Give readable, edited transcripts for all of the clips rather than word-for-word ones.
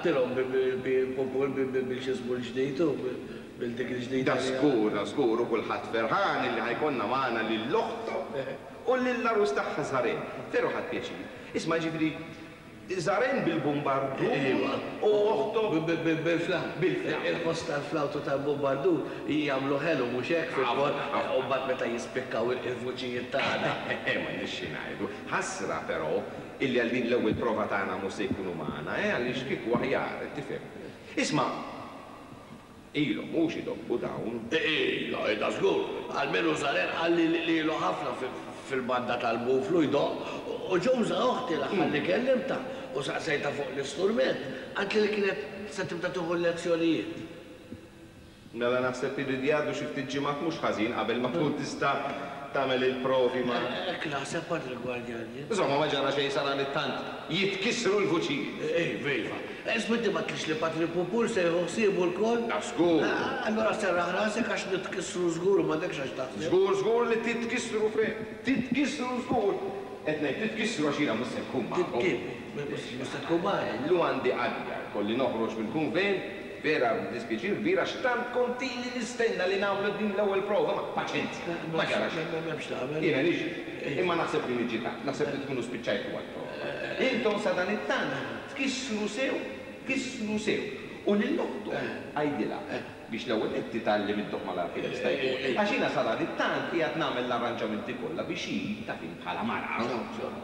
Għattilhom bil-pupul bil-x'ismu l-ġdid u bil dik il-ġdida. Da żgur, da żgur u kulħadd ferħan illi ħa jkollna magħna lil oħtu u lill-għarus tagħha Zaren. Veru ħadt pjaċir. Isma' jiġifieri Zaren bil-bumbardun u oħtu. Bil-flawt. Bil-flawt. Il-ħoss tal-flawt u tal-bumbardun jagħmlu ħelu mhux hekk fil-kor u mbagħad meta jispikkaw il-vuċijiet tagħna. M'għandniex xi ngħidu. Ħasra però illi għal din l-ewwel prova tagħna mhux se jkunu magħna, eh, għaliex kieku aħjar, tifhem. Isma', ilhom mhux idoqqu dawn. Ilha, ilha żgur. Almenu Zaren qalli li ilu ħafna fil-banda tal-buflu jdoqq u Ġuża oħti l-aħħar li kellimtha u saqsejtha fuq l-isturment, qaltli li kienet se tibda tieħu l-lezzjonijiet. Mela naħseb iridu jgħaddu xi ftit ġimgħat mhux ħażin qabel ma tkun tista' tagħmel il-provi ma'. Hekk naħseb, Padre Gwardjan, jien. Insomma ma ġara xejn sadanittant jitkissru l-vuċijiet. Iva, iva. Isma' inti m'għedtlix li Patri Pupul se jieħu ħsiebu lkoll? Da żgur. Allura serraħ rasek għax nitkissru żgur u m'għandekx għax taħseb. Żgur, żgur li titkissru, Fred. Titkissru żgur. Qed ngħid titkissru għax jiena mhux se nkun magħkom. Kif? Mhux se tkun magħna? Illum għandi qadja, jkolli noħroġ mill-kunvent, vera b'dispjaċir kbir għax tant kont ili nistenna li nagħmlu din l-ewwel prova, ma paċenzja, ma ġara xejn. M'hemmx tagħmel. Jiena niġi, imma naħseb li niġi tard, naħseb li tkunu spiċċajtu għall-prova. Intom sadanittant tkissru sew, tkissru sew. U lil oħtok għidilha biex l-ewwel nett titgħallem iddoqq malajr kemm jista' jkun, għax jiena sadanittant qiegħed nagħmel l-arranġamenti kollha biex hi, taf int bħala mara,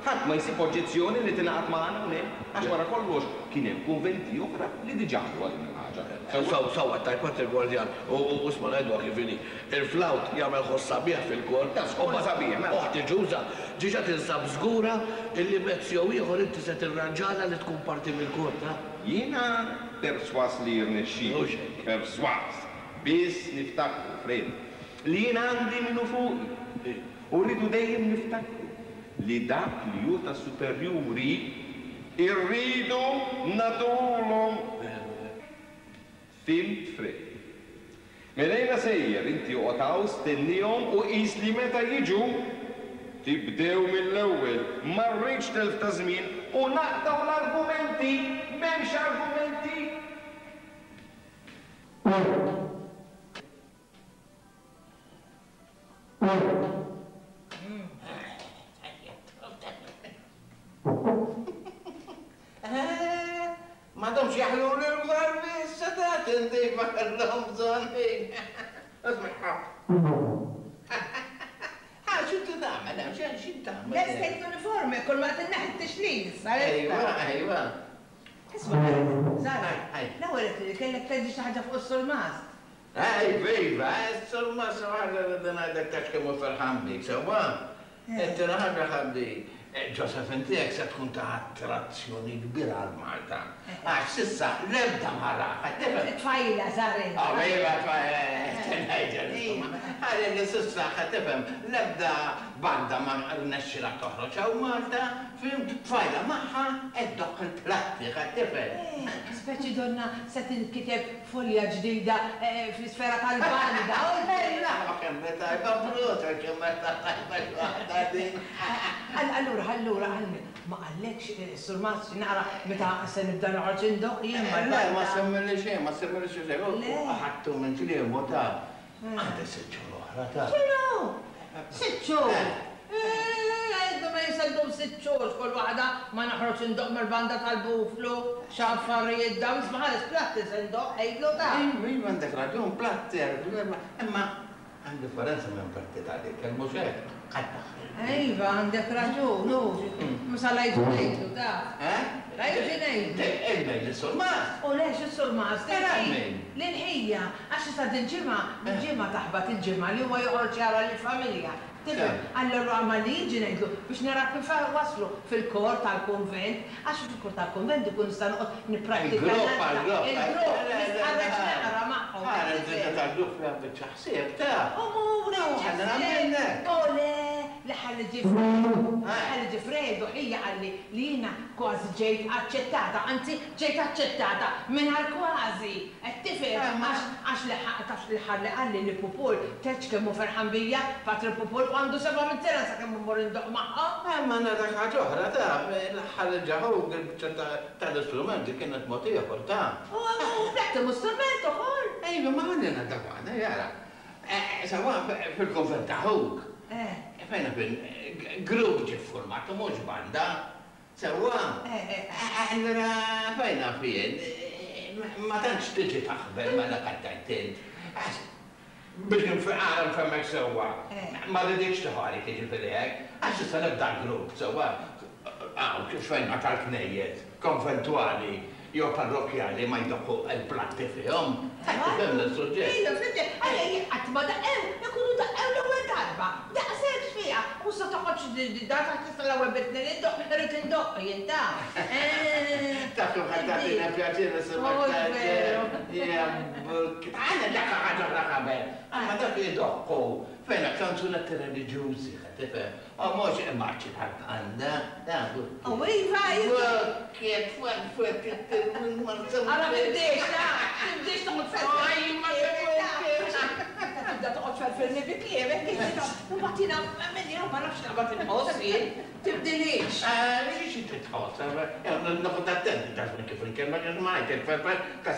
ħadd ma jsib oġġezzjoni li tingħaqad magħna hawnhekk, għax wara kollox kien hemm kunventi oħra li diġà għamluha din il-ħaġa. Sewwa, sewwa tgħid Patri Gwardjan, u isma' ngħiduha kif inhi, il-flawt jagħmel ħoss sabiħ fil-kor, Ta' żgur sabiħ, mela. Oħti Ġuża diġà tinsab żgura illi mezz jew ieħor inti se tirranġalha li tkun parti mill-kor, ta'. Jiena persważ li jirnexxili. Mhux hekk. Persważ. Biss niftakru, Fred, li jiena għandi min hu fuqi. U rridu dejjem niftakru li dak li hu tas-superjuri rridu nagħtuhulhom. Fhimt, Fred. Mela jiena sejjer, inti oqgħod hawn stennihom u qis li meta jiġu tibdew mill-ewwel. Ma rridx telf ta' żmien u naqtgħu l-argumenti! M'hemmx argumenti! M'għadhomx jaħluli l-barbi issa ta' tindifa kellhom bżonn ħin. Isma' Ha, x'inti tagħmel hemm? X'inti tagħmel? Lestejt l-uniformi, kull ma qed inneħħi t-tixlil issa lesta. Ejwa, ejwa. Isma' Zara, l-ewwel għedt li kellek tgħidli xi ħaġa fuq is-surmast. Iva, iva, is-surmast xi ħaġa rrid ngħidlek tafx kemm hu ferħan bik, sewwa? It-tieni ħaġa ħabbi, Josephine tiegħek se tkun ta' attrazzjoni kbira għal Malta. Għax s'issa l-ebda mara, qed tifhem? Tfajla, Zaren. Oh, iva, tfajla, qed ngħidlek insomma. Għalli li s'issa, qed tifhem, l-ebda banda ma rnexxilha toħroġ hawn Malta, fhimt? Tfajla magħha qed ddoqq il-platti, qed tifhem? Eh, speċi donnha se tinkiteb Folja ġdida fl-isfera tal-banda. Ejla, ma kemm hi tajba bruta, kemm meta tajba xi waħda din. Allura, allura, ma qallekx is-Sur Mast xi naqra meta se nibda noqgħod indoqq jien mal-banda? Le, ma semmili xejn, ma semmili xejn. U ħadtu minn kliemu taf. Għandi sitt xhur oħra taf. X'inhu? Sitt xhur? Għidlu ma jiseddum sitt xhur x'kull waħda ma noħroġ indoqq mal-banda tal-buflu, x'affarijiet dawn, isma' ħares platti se ndoqq, għidlu ta. Iva, iva għandek raġun, platti, imma hemm differenza minn platti tal-ikel, mhux hekk? Qatt daħħal. Iva, għandek raġun, hu. Imma sa la jiġi ngħidlu, taf. Eh? La jiġi ngħidlu. Ejja, lis-surmast. U le, x'is-surmast? Mela min? Lil ħija. Għax issa dil-ġimgħa, dil-ġimgħa taħbat il-ġimgħa li huwa joqgħod jara lill-familja. Tifhem? Allura malli jiġi ngħidlu biex nara kif waslu fil-kor tal-kunvent, għax fil-kor tal-kunvent ikun nista' noqgħod nipprattika Il-grupp, għall-grupp. Il-grupp, nistħarreġ naqra magħhom. Ara, il-ġimgħa tal-grupp fiha biċċa ħsieb, taf. U mur, Ħalli nagħmel hekk. U le, L-aħħar li ġie L-aħħar li ġie Fredu ħija qalli li jiena kważi ġejt aċċettata, anzi ġejt aċċettata mingħajr kważi, qed tifhem? Għax għax l-aħħar tafx l-aħħar li qalli li Pupul tgħidx kemm hu ferħan bija, Patri Pupul u għandu 700 sena sakemm immur indoqq magħhom. Imma ngħidlek ħaġa oħra taf, l-aħħar li ġie ħuk il-biċċa tal-istrumenti kienet mod ieħor taf. U bl-ettimu strument ukoll? Iva, ma ħalli ngħidlek waħda, jara. Sewwa fil-kunvent ta' ħuk. Fejn naf jien, grupp ġie ffurmat u mhux banda. Sewwa? Allura fejn naf jien, ma tantx tiġi taħbel ma' dak qed tgħid int. Għax biex ara nfehmek sewwa, ma rridikx tieħu għalik jiġifieri hekk, għax issa nibda grupp, sewwa, hawn kif fejn ma tal-knejjes konventwali jew parrokkjali ma jdoqqu l-platti fihom. Qed tifhimni s-suġġett? Iva, fhimtek. Għalija jekk qatt ma daqqew, ikunu daqqew l-ewwel darba. Daqshekk x'fiha. U issa toqgħodx dar taħt tista' l-ewwel bidtni li ndoqq, irrid indoqq jien taf. Eh. Taf kemm ħadd tagħtina pjaċir nisimgħek tgħid. Ja buk. Għandna dak ħaġa oħra qabel. Aħna dak idoqqu fejn kanzunetti reliġjużi, qed tifhem? U mhux immarċi tal-banda, ta' U iva, iva. Kif twerfet Ara tibdiex, ta, tibdiex toqgħod tferfer. Meta tibda toqgħod tferfirni bi kliemek, inti taf, imbagħad jiena minni ma nafx naqbad inħoss jien. Tibdilix. Xi trid tħoss? Noqgħod attenti ta' kif inkellmek għax ma ngħidlek tferfer ta'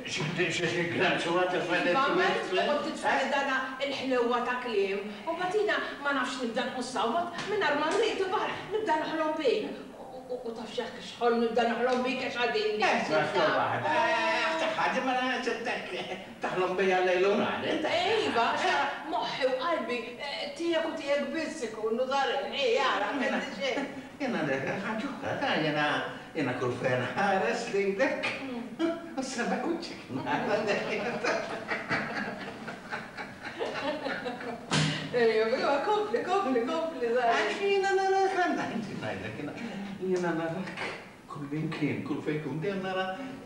xi granċura tifel. Iva, ma toqgħod titfagħli dana l-ħlewwa ta' kliem. U mbagħad jiena ma nafx nibda nħossha u mbagħad mingħajr ma nrid imbagħad nibda noħlom bik. U taf x'ħolm nibda noħlom bik għax għadinni. Isma' xorta waħda. Aħseb ħaġa mela sibtek taħlom bija lejl u nhar int. Iva, għax ara moħħi u qalbi tiegħek u tiegħek biss ikunu dar il-ħin ara m'għandi xejn. Jiena ngħidlek ħaġa oħra ta' jiena jiena kull fejn nħares lilek u s-seba' wiċċek nara dejjem. Ejja, kompli, kompli, kompli, żgħir. Għax jiena narak għandha, inti ngħidlek, jiena jiena narak kullimkien, kull fejn tkun dejjem nara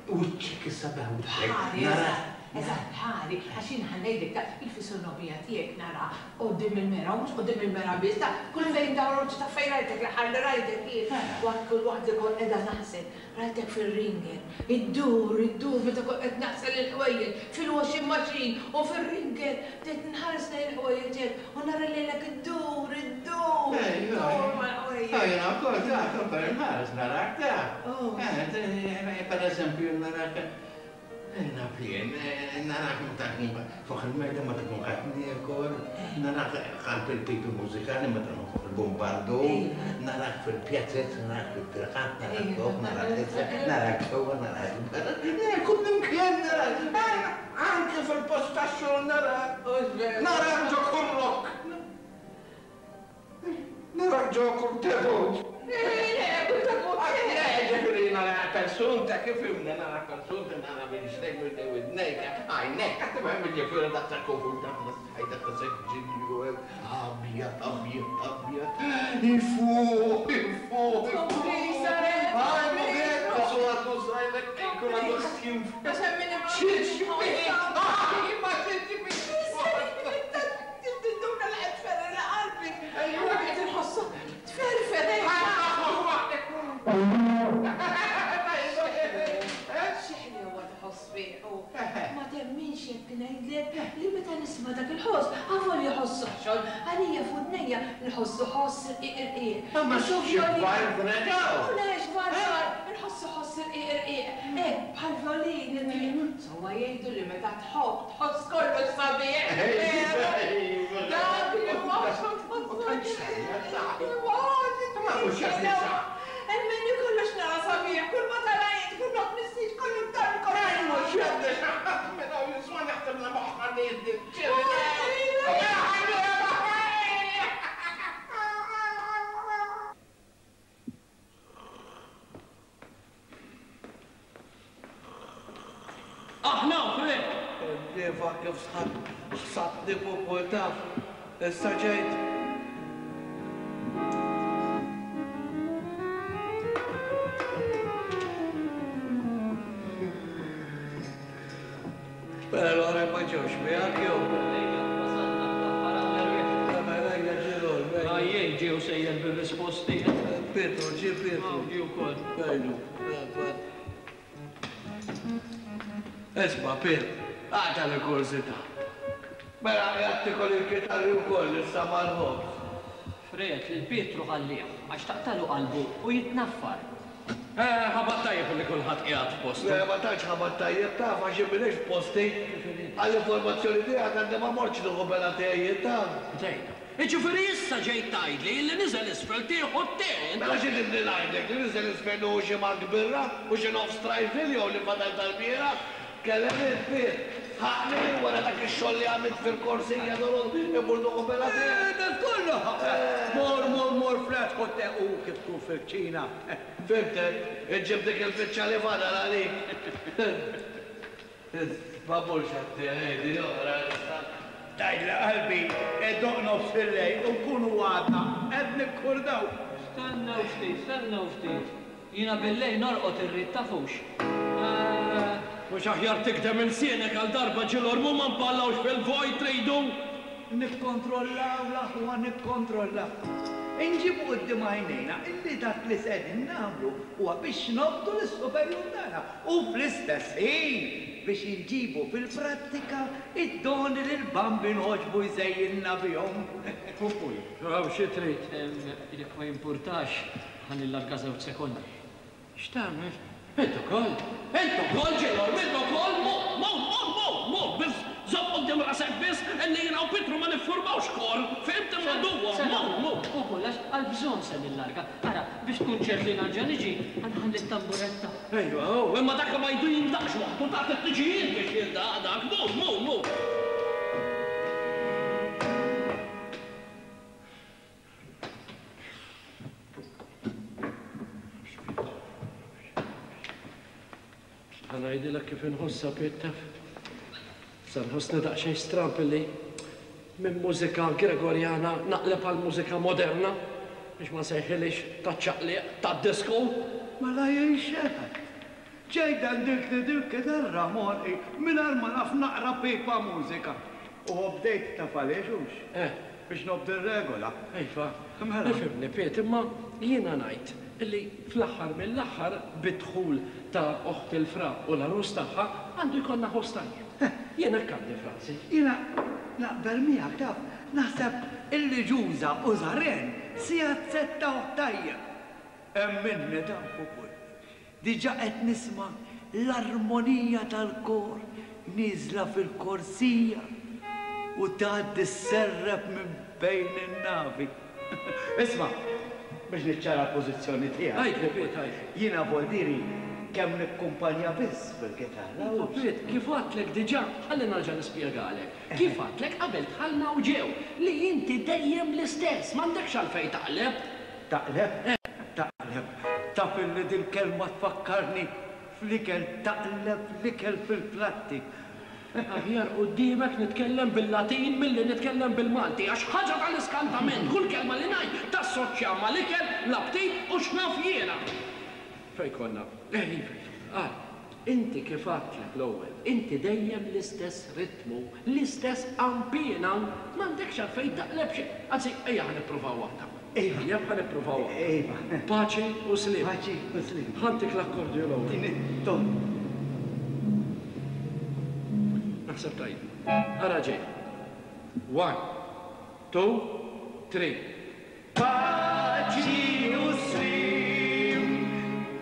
wiċċek, is-sabiħ wiċċek. Bħali, eżatt, eżatt bħali, għax jien ħa ngħidlek taf il-fisonomija tiegħek nara quddiem il-mera u mhux quddiem il-mera biss, taf kull fejn ndawwar wiċċi taf fejn rajtek l-aħħar li rajtek jien waqt kull waqt li kont qiegħda naħsel Rajtek fir-ringer, iddur, iddur meta kont qed naħsel il-ħwejjeġ fil-washing machine u fir-ringer bdejt nħares lejn il-ħwejjeġ tiegħek u nara lilek iddur, iddur, iddur mal-ħwejjeġ. Ah, jiena wkoll taf, ukoll inħares narak taf. Eh, pereżempju narak Naf jien, narak meta nkun fuq il-mejda meta nkun qed niekol, narak qalb il-pipi mużikali meta nkun fuq il-bumbardu, narak fil-pjazez, narak fit-triqat, narak fuq, narak isfel, narak ġewwa, narak barra, kullimkien narak, anke fil-post tax-xogħol narak, narak ġo kull rokk. Narak ġo kull tebut. Le, kull tebut le. Le, ġifieri nara persunta kif fhimna, nara persunta, nara minn ġdejk, minn ġdejk widnejk, għajnejk, qed tifhem jiġifieri daqshekk konfuż, daqshekk daqshekk ġilju hekk, abjad, abjad, abjad, ifuħ, ifuħ, ifuħ. Tinduna li qed tferrilha qalbi. Qed inħossha tferfer hekk. Xi ħlewwa tħoss fih hu. Ma temminx jekk ngħidlek li meta nisma' dak il-ħoss, avolja ħoss oħxon, għalija f'widnejja nħossu ħoss irqiq irqiq. Ma xi valvole dawn! U le x'valvol! Inħossu ħoss irqiq irqiq. Hekk bħal violin irqiq. Sewwa jgħidu li meta tħobb tħoss kollox sabiħ. Veru? Dak li huwa oħxon tħossu Ma mhux qed nisa'. Emminni kollox nara sabiħ, kull ma tara int, kull ma tmissix, kull imtar kollox. Mhux qed nisa' minn hawn jisma' naħseb li moħħna li Aħna Fred! Imdiefa kif sħabt ħsabtni pupul taf. Issa ġejt. Mela l-oħrajn ma ġewx miegħek jew? Ejja, wasalna fl-aħħar għandna rwieħ. Mela ejja ġirol, ejja. ġie u sejjer bir-risposti. Pietru, ġie Pietru. Ġie wkoll. Għajdu. Isma', Piet, aqta' l-kurżità. Mela qiegħed tiekol il-kitarri wkoll issa mal-ħobż. Fred, lil Pietru ħallih, għax taqtagħlu qalbu u jitnaffar. Eh, ħabat tajjeb li kulħadd qiegħed f'postu. Le, ma tantx ħabat tajjeb, taf, għax jien m'iniex f'posti. Għall-informazzjoni tiegħek għadni ma mortx nieħu bela te jien, taf. Bdejna. Jiġifieri issa ġejt tgħidli li niżel isfel tieħu t-te int? Mela xi tridni ngħidlek, li niżel isfel nieħu xi mank birra u xi nofs trifle jew li fadal tal-bieraħ? Tkellem int, Piet. Ħaqni wara dak ix-xogħol li għamilt fil-korsija dorgħodu immur nieħu bela te. Eh, kollu! Mur, mur, mur, Fred, ħu te u kif tkun fil-kċina. Fhimtek, iġġib dik il-biċċa li fadal għalik. Ma mmurx għat-te, di oħra issa. Tgħidli qalbi, idoqq nofs il-lejl u nkunu għadna qed nikkurdaw. Stennew ftit, stennew ftit. Jiena bil-lejl norqod irrid tafux. Eh. Mhux aħjar tikdem ilsienek għal darba ġilormu ma npallawx fil-vojt tridu? Nikkontrollaw l-aħwa nikkontrollaw. Inġibu quddiem għajnejna illi dak li s'qegħdin nagħmlu huwa biex nobdu lis-superjur tagħna u fl-istess ħin biex inġibu fil-prattika d-doni li l-Bambin għoġbu jżejjinna bihom. Pupuj, Hawn xi trid? Jekk ma jimpurtax, ħa nillarga żewġ sekondi. X'tagħmel? Int ukoll! Int ukoll, Ġilorm, int ukoll! Mur, mur, mur, mur, mur! Biss żomm quddiem rasek biss illi jiena u Pietru ma niffurmawx kor, fhimt? Imma duwa, mur, mur! Ukoll għax għall-bżonn se nillarga. Ara, biex tkun ċert li nerġa' niġi, ħa nħalli t-tamburetta. Ejwa, hu, imma dak ma jdu jindaqx waħdu, tagħti t-tiġijiet biex jindaq dak. Mur, mur, mur! Ħa ngħidilek kif inħossha, Piet, taf. Sa nħossni daqsxejn stramb illi minn mużika Gregorjana naqleb għal mużika moderna, biex ma nsejħilhiex taċ-ċaqliq, tad-disco. Mela jien x'għedt? Ġejt għandiltni dil-kitarra m'għonqi mingħajr ma naf naqra pipa mużika. U obdejt taf għaliex hux? Eh. Biex nobdi r-regola. Iva. Mela. Ifhimni Piet, imma jiena ngħid illi fl-aħħar mill-aħħar bid-dħul ta' oħt il-fra u l-għarus tagħha għandu jkollna ħoss tajjeb. Eh. Jien hekk għandi f'rasi. Jiena naqbel miegħek taf, naħseb illi Ġuża u Żaren se jazzettawh tajjeb. Emminni taf ukoll. Diġà qed nisma' l-armonija tal-kor nieżla fil-korsija u tgħaddi sserrep minn bejn in-navi. Isma', biex niċċara l-pożizzjoni tiegħek. Għidli, Piet, għidli. Jiena Voldieri kemm nikkumpanja biss bil-kitarra, Iva, hux? Piet, kif għedtlek diġà, ħalli nerġa' nispjegalek. Kif għedtlek qabel dħalna u ġew, li inti dejjem l-istess, m'għandekx għalfejn taqleb. Taqleb? Taqleb. Taf illi dil-kelma tfakkarni fl-ikel, taqleb l-ikel fil-platti. Aħjar quddiemek nitkellem bil-Latin milli nitkellem bil-Malti, għax ħaġa tal-iskantament, kull kelma li ngħid tassoċja mal-ikel, l-aptit u x'naf jiena. Fejn konna? Eh, iva, iva. Ara, inti kif għedtlek l-ewwel, inti dejjem l-istess ritmu, l-istess qanpiena, m'għandekx għalfejn taqleb xejn. Anzi, ejja ħa nippruvaw waħda. Iva. Ejja ħa nippruvaw waħda. Iva. Paċi u sliem. Paċi u sliem. Ħa ntik l-akkordju l-ewwel. Tini t-ton. Naħseb tajjeb. Ara ġej. One, two, three. Paċi u sliem,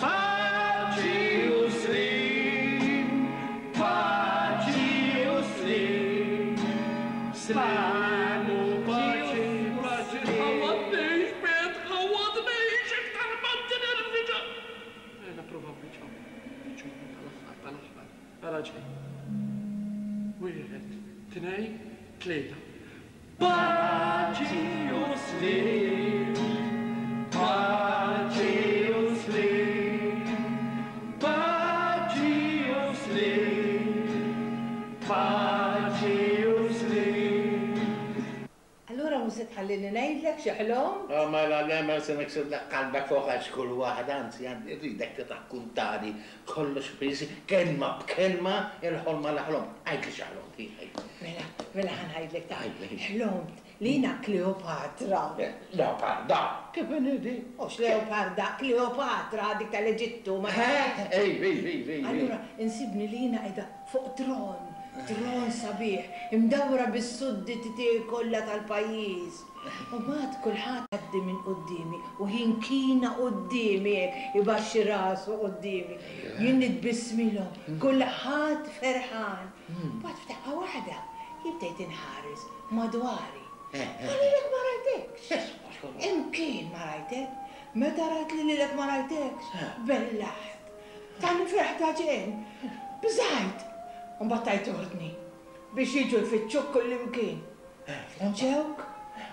paċi u sliem, paċi u sliem. Sliem u paċi, paċi. Tħawwadnix, Piet, tħawwadnix, iktar ma tinerviġa. Ejja nipprovaw biċċa oħra, biċċa oħra tal-aħħar, tal-aħħar. Ara ġej. Wieħed, tnejn, tlieta. Paċi u sliem, paċi u sliem, paċi u sliem, paċi u sliem. Allura mhux se tħallini ngħidlek xi ħlomt? Oh, mela le, ma se niksirlek qalbek fuq għax kull waħda, anzi għandi rridek tirrakkuntali kollox biss, kelma b'kelma, il-ħolma li ħlomt. Għidli xi ħlomt, hi, għidli. Mela, mela ħa ngħidlek ta' Għidli. ħlomt. li jiena Kleopatra. Leoparda? Kif inhi di? Mhux Leoparda, Kleopatra, dik tal-Eġittu, ma tafx? Iva, iva, iva, iva. Allura insibni li jiena qiegħda fuq tron, tron sabiħ, imdawra bis-sudditi tiegħi kollha tal-pajjiż. U mbagħad kulħadd jgħaddi minn quddiemi u jinkina quddiemi hekk, ibaxxi rasu quddiemi. Jien nitbissmilhom, kulħadd ferħan. Mbagħad f'daqqa waħda jien bdejt inħares madwari. Ma lilek ma rajtekx. Imkien ma rajtek. Meta rajt li lilek ma rajtekx, bellaħt. Tal-ferħ ta' ġenn. Bżajt. U mbagħad tajt ordni biex jiġu jfittxuk kullimkien. Ġewk,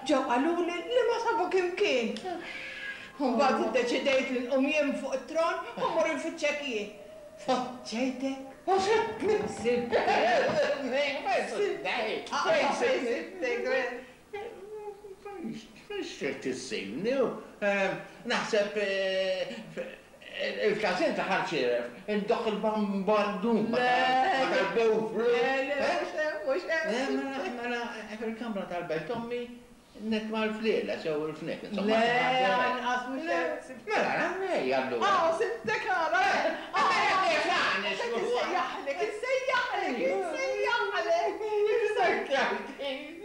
ġew qaluli li ma sabuk imkien. U mbagħad iddeċidejt li nqum jien fuq it-tron u mmur infittxek jien. Fittxejtek u sibtni. Sibtek. Fejn sibtek? Fejn trid issibni? Naħseb Il-każin ta' Ħal Xieref, indoqq il-bambardun ma' tal-buflu. Le, le, mhux hemm, mhux hemm. Le, mela, mela, fil-kamra tal-belt ommi nitma' l-flieles jew il-fniek, insomma. Le, anqas mhux hemm. Mela, ejja allura. Hawn sibtek ara. Insejjaħlek, insejjaħlek, insejjaħlek.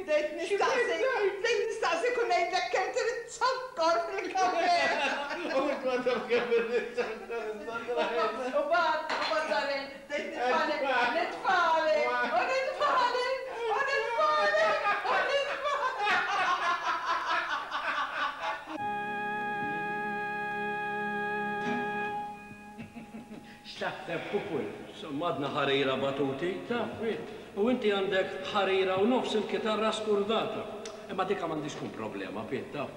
Bdejt nistaqsi, bdejt nistaqsik u ngħidlek kemm trid zokkor fil-kafè. U int ma taf kemm irrid zokkor U mbagħad, u mbagħad darren, bdejt nitfagħlek, nitfagħlek, u nitfagħlek, u nitfagħlek, u nitfagħlek. X'taħseb Pupul? Insomma għadna ħarira batuti, taf, U inti għandek ħarira u nofs il-kitarra skurdata. Imma dika m'għandhiex tkun problema, Piet, taf.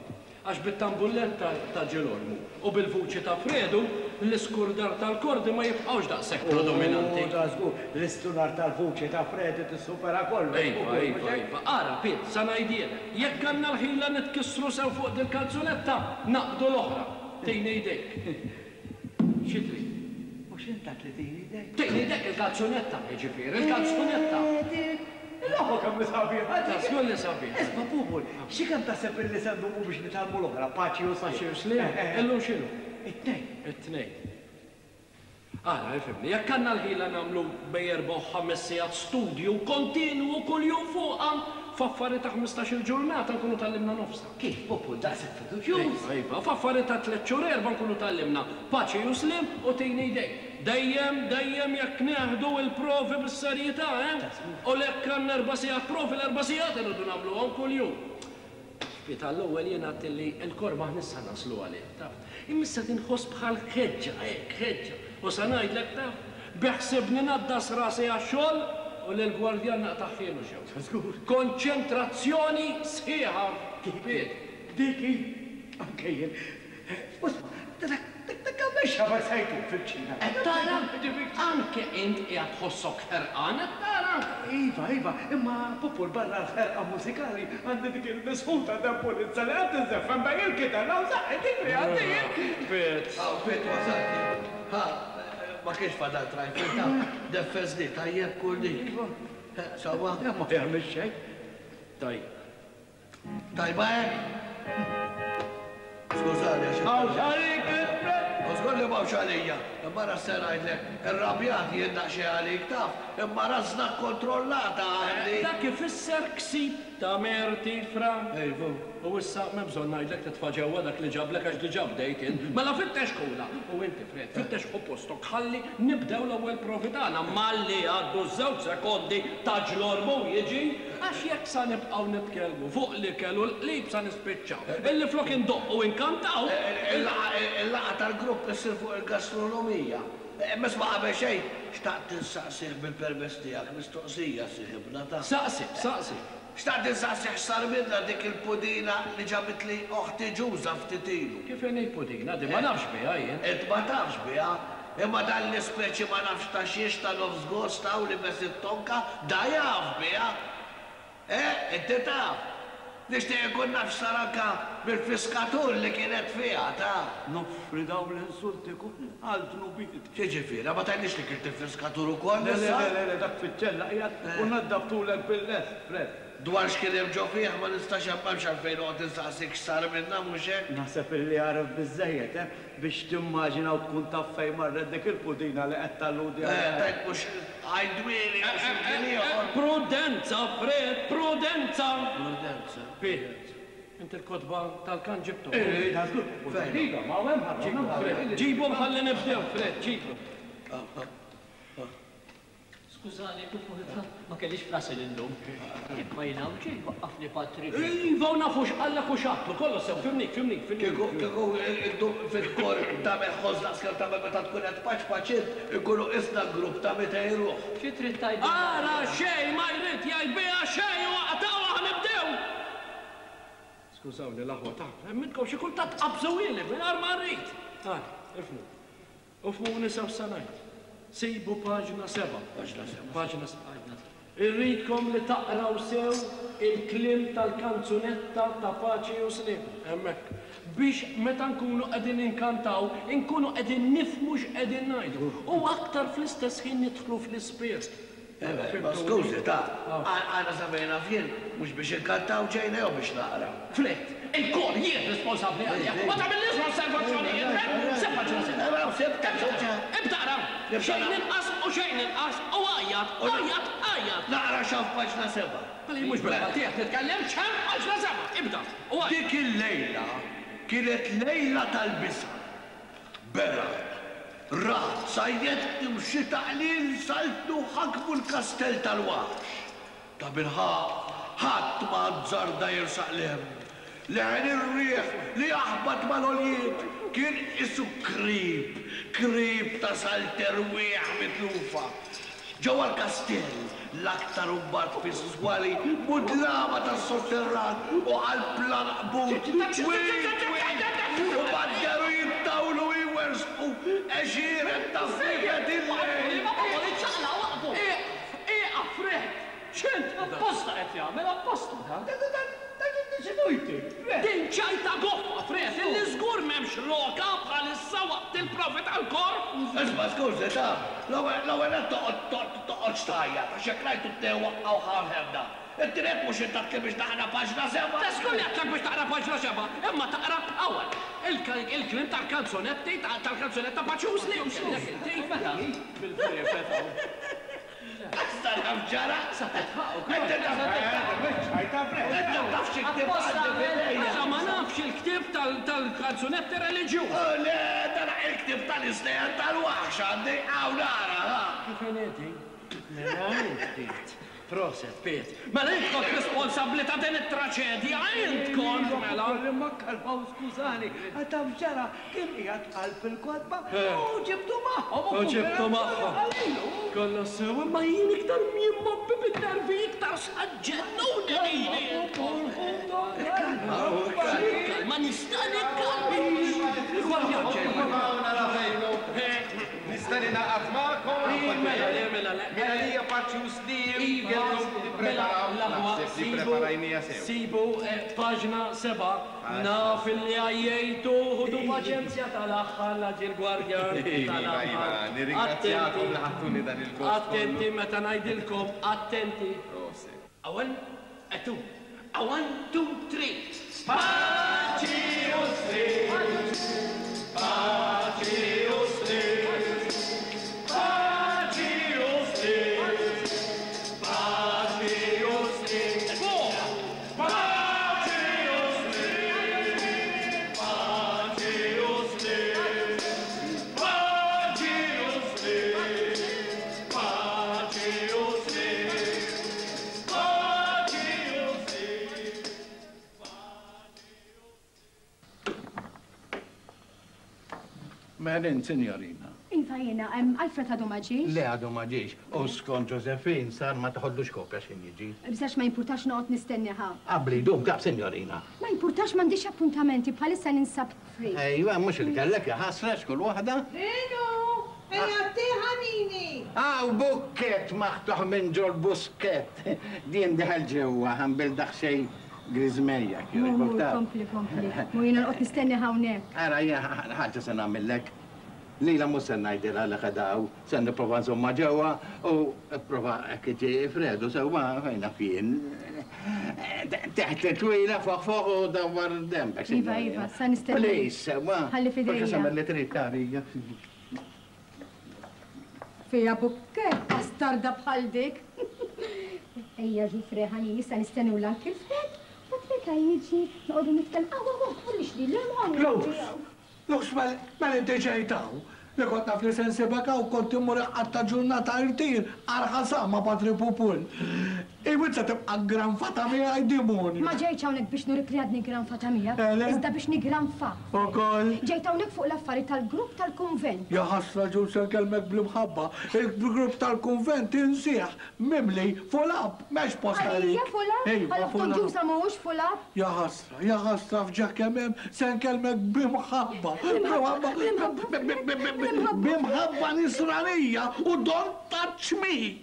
Għax bit-tambulletta ta' Ġelormu u bil-vuċi ta' Fredu, l-iskurdar tal-kordi ma jibqgħux daqshekk predominanti. U dażgur, l-istunar tal-vuċi ta' Fredu tissupera kollox, Iva, Pupul, mhux iva, hekk? iva. Ara, Piet, sa ngħidhielek, jekk għandna l-ħila nitkissru sew fuq dil-kanzunetta, naqbdu l-oħra. Tini jdejk. Xi trid? Mhux int għedt li tini jdejk? Tini jdejk il-kalzunetta, jiġifieri, il-kalzunetta. Dik! Il-logħba kemm hi sabiħa dik! Ta' żgur li sabiħa. Isma' Pupul, xi kemm taħseb illi se ndumu biex nitgħallmu l-oħra, paċi u sliem? Paċi u sliem? Illum x'inhu? It-Tnejn. It-Tnejn. Ara, ifhimni, jekk għandna l-ħila nagħmlu bejn erba' u ħames sigħat studju kontinwu kuljum fuqha, f'affari ta' ħmistax-il ġurnata nkunu tgħallimna nofsha. Kif, Pupul, daqshekk fiduċjuż? Iva, iva, f'affari ta' tliet xhur erba' nkunu tgħallimna paċi u sliem u tini jdejk. Dejjem, dejjem jekk nieħdu l-provi bis-serjetà, eh? U jekk għandna erba' sigħat provi, l-erba' sigħat irridu nagħmluhom kuljum. Ftit għall-ewwel jien għedt illi l-kor m'aħniex sa naslu għalih, taf. Imma issa qed inħoss bħal ħeġġa, hekk, ħeġġa. U sa ngħidlek, taf, beħsiebni ngħaddas rasi għax-xogħol u lill-gwardjan naqtagħhielu xewk. Żgur. Konċentrazzjoni sħiħa, Piet. Dik hi, anke jien. U isma', dak dak għamel xabar sa jkun fil-kċina. Qed tara? Anke int qiegħed tħossok ħerqan, qed tara? Iva, iva, imma Pupul barra l-ħerqa mużikali għandi dik il-misħuta debbolizza li qed tiżżeffen bejn il-kitarra u saqqi dik li għandi jien. Piet. Hawn Piet wasalt jien. Ha, ma kienx fadal trajfil taf, deffeżni tajjeb kull dik. Sewwa? Ma jagħmel xejn. Tajjeb. Tajba hekk? Skużani għax. Hawnx għalik il-prezz! U żgur li m'hawnx għalija. Imma ara x'se ngħidlek, irrabjat jien daqsxejn għalik taf, imma rażna kkontrollata għandi. Dak ifisser ksib ta' merti, Fra. Iva. U issa m'hemm bżonn ngħidlek titfa' ġewwa dak li ġablek għax diġà bdejt int. Mela fittex kula! U inti, Fred, fittex ħu postok ħalli nibdew l-ewwel provi tagħna malli jgħaddu ż-żewġ sekondi ta' ġlormu jiġi. Għax jekk sa nibqgħu nitkellmu fuq l-ikel u l-qlib sa nispiċċaw illi flok indoqqu u nkantaw. Il-laqgħa tal-grupp issir fuq il-gastronomija. Imma isma' qabel xejn, xtaqt insaqsih bil-permess tiegħek mistoqsija, sieħibna ta'. Saqsi, saqsi. Xtaqt insaqsih x'sar minnha dik il-pudina li ġabitli oħti Ġuża ftit ilu. Kif inhi pudina din? Ma nafx biha jien. Int ma tafx biha? Imma dan l-ispeċi ma nafx ta' xiex ta' nofs gost hawn libes it-tonka, da jaf biha! Eh, inti taf? Nixtieq inkun naf x'sar anka mill-fiskatur li kienet fiha, taf. Noffri dawn l-insulti kollha għal dnubieti. X'jiġifieri, ma tgħidlix li kilt il-fiskatur ukoll Le, le, issa? le, le, dak fiċ-ċella qiegħed u naddaftulek bil-lest, Fred. Dwar x'kien hemm ġo fih ma nistax m'hemmx għalfejn noqgħod insaqsik x'sar minnha, mhux hekk? Naħseb illi għaref biżżejjed, eh, biex timmaġina u tkun taf fejn marret dik il-pudina li qed talludi għaliha. Eh, tgħid mhux għidwieli mhux imkien ieħor. Prudenza, Fred, prudenza! Prudenza. Piet, inti l-kotba tal-kant ġibthom? Eh, da żgur. Fejn? Ma hawn hemm ħadd. Fred, ġibhom ħalli nibdew, Fred, ġibhom. Skużani, Pupulta, ma kellix f'rasi li ndum. Imma jien hawn ġej waqqafni Patri. Iva, u nafu x'qallek u x'għadtlu, kollox sew, fhimnik, fhimnik, fhimnik. Kieku, kieku iddum fil-kor tagħmel ħoss daqskemm tagħmel meta tkun qed tpaċpaċ int, inkunu qisna grupp ta' 200 ruħ. Xi trid tgħidilna? Ara xejn ma jrid jgħid biha xejn u aqtgħuha ħa nibdew! Skużawni l-aħwa ta', hemm minnkom xi kultant tqabbżuhieli mingħajr ma rrid. Ara, ifhmu. U fhmuni sew x'se ngħid. Sibu paġna sebgħa. Paġna sebgħa. Paġna sebgħa. Irridkom li taqraw sew il-kliem tal-kanzunetta ta' Paċi u Sliem, hemmhekk, biex meta nkunu qegħdin inkantaw, inkunu qegħdin nifhmu x'qegħdin ngħidu u aktar fl-istess ħin nidħlu fl-ispirtu. Ma skużi, ta, għana sa fejn naf jien, mhux biex inkantaw ġejna jew biex naqraw. Fred, il-kor jien responsabbli għalih. Ma tagħmillix osservazzjonijiet, Fred! Sib paġna sitta. Naraw, sibta, sibta. Ibda aqra. Xejn inqas u xejn inqas u għajjat, għajjat, għajjat. Naqra x'hawn f'paġna sebgħa. Mela jien mhux bil-Malti qed nitkellem, x'hemm f'paġna sebgħa. Ibda u għajjat. Dik il-lejla kienet lejla tal-biża'. Beraq, ragħad, sajjetti u xita qliel saltnu u ħakmu l-kastell tal-waħx. Tabilħaqq, ħadd ma azzarda jersaq 'l hemm. Leħen ir-riħ li jaħbat mal-għoljiet kien qisu krib, krib ta' salt erwieħ mitlufa. Ġewwa l-kastell, l-aktar u mbagħad fis-swali mudlama tas-sotterran u qalb l-għanqbut twil twil, u badderu jittawlu u jwerżqu għexieren ta' friefet il-lejl. Ieqaf! Ieqaf, Fred! X'int? Apposta qed jagħmel, apposta dan. Din ċajta goffa, Fred, illi żgur m'hemmx roka bħalissa waqt il-provi tal-kor! Isma' skużi, taf, l-ewwel nett toqgħod toqgħodx tgħajjat għax jekk rajtu t-tnejn waqqgħu ħamħemna. It-tieni nett mhux int għedtli biex naqra paġna sebgħa. Ta' żgur li għedtlek biex taqra paġna sebgħa, imma taqra ewwel il-kliem tal-kanzunetti tal-kanzunetta Paċużli u x'għedtlek inti. Mela, bil-friefet hawn. Issa naf x'ġara! Sa titħaq ukoll. Inti taf Inti taf xi ktieb għandi f'idejja. Issa ma nafx il-ktieb tal-kanzunetti reliġjuż. Le, dan il-ktieb tal-istejjer tal-waħx għandi. Hawn ara, ha. Kif inhi din? Mela int Piet. Proset, Piet. Mela int kont responsabbli ta' din it-traċedja, int kont, mela. Imma kalma u skużani, taf x'ġara? Kien qiegħed qalb il-kotba u ġibtu magħhom U ġibtu magħhom. Kollox sew, imma jien iktar m'jien mgħobbi bin-nervi iktar sa ġġennuni lili. Ma nista' nikkalma. Nista' ningħaqad magħkom? Mela le, mela le. Mela lija paċi u sliem. Iva, mela l-aħwa sibu, sibu paġna 7. Naf illi għajjejtu, ħudu paċenzja tal-aħħar la ġie l-gwardjan Iva, iva, nirringrazzjakom li ħadtuni dan il-gost kollu. Attenti meta ngħidilkom, attenti. Proset. A one, a two, a one, two, three. Paċi u sliem! Paċi u sliem! Paċi u sliem! Paċi u sliem! Fuq! Paċi u sliem! Paċi u sliem! Paċi u sliem! Paċi u sliem! Paċi u sliem! Merin, sinjorina. Iva jiena, Alfred għadu ma ġiex? Le għadu ma ġiex. U skont Josephine sar ma toħodlux kopja x'ħin jiġi. Biżax ma jimpurtax noqgħod nistenniha. Qabli jdum taf, sinjorina. Ma jimpurtax m'għandix appuntamenti bħalissa ninsab free. Ejwa, mhux li kellek jaħasra x'kull waħda. Rinu, ejja tieħa Nini. Aw bukkett maħtuħ minn ġol buskett. Din diħel ġewwa ħambil daqsxejn griżmejja kif Mur, kompli, kompli. Mur jiena noqgħod nistenni hawnhekk. Ara, jiena ħaġa se nagħmillek. Lilha mhux se ngħidilha li qiegħda hawn, se nipprova nżommha ġewwa u pprova hekk iġi Fredu sewwa fejn naf jien. Teħt twila foħ foħ u dawwar dembek. Iva, iva, sa nistennik. Please, sewwa. Ħalli f'idejja. Forsi tagħmel li trid tagħlija. Fiha bukkett bastarda bħal dik. Ejja Ġufre ħanini issa nistennew l-Uncle Fred, mbagħad meta jiġi noqogħdu nitkellmu. Aw, aw, aw, tħallix lili hemm hawn. Lux, Lux, mela inti ġejt hawn? Li kont naf li se nsibek hawn kont immur inqatta' ġurnata irtir għar-ħasa ma' Patri Pupul. Iva int se tibqa' ggranfata miegħi dimonju. Ma ġejtx hawnhekk biex nurik li għadni ggranfata miegħek, Eh, le? iżda biex niggranfak. Ukoll? Ġejt hawnhekk fuq l-affari tal-grupp tal-kunvent. Ja ħasra ġul se nkellmek bl-imħabba. Il-grupp tal-kunvent insih mimli full up, m'hemmx post għalik. Għalija full up? Iva, Għal full oħtok up. Ġusa mhuwiex full up? Ja ħasra, ja ħasra f'ġieħ kemm hemm se nkellmek b'imħabba. Bl-imħabba, B'imħabba, b'imħabba nisranija u don't touch me.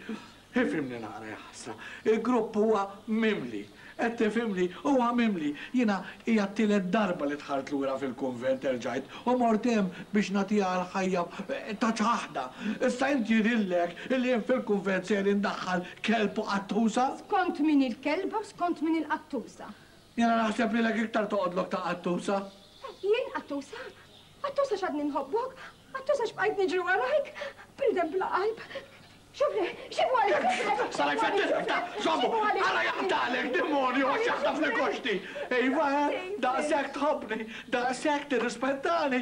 Ifhimni naqra ja ħasra. Il-grupp huwa mimli. Qed tifhimni? Huwa mimli. Jiena hija t-tielet darba li dħalt lura fil-kunvent erġajt u mort hemm biex nagħtiha l-ħajja ta' ċaħda. Issa int jidhirlek illi jien fil-kunvent sejjer indaħħal kelb u qattusa? Skont min hi l-kelba u skont min hi l-qattusa. Jiena naħseb lilek iktar toqgħodlok ta' qattusa. Jien qattusa? Qattusa x'għadni nħobbok? Qattusa x'bqajt niġri warajk? Bniedem bla qalb. Xubri, xibu għalik, xubri. Saraj fettilek ta' sommu, għara jaqtalek, demonju, għax jaħtaf li koxti. Iva, eh, daqshekk tħobbni, daqshekk tirrispettani,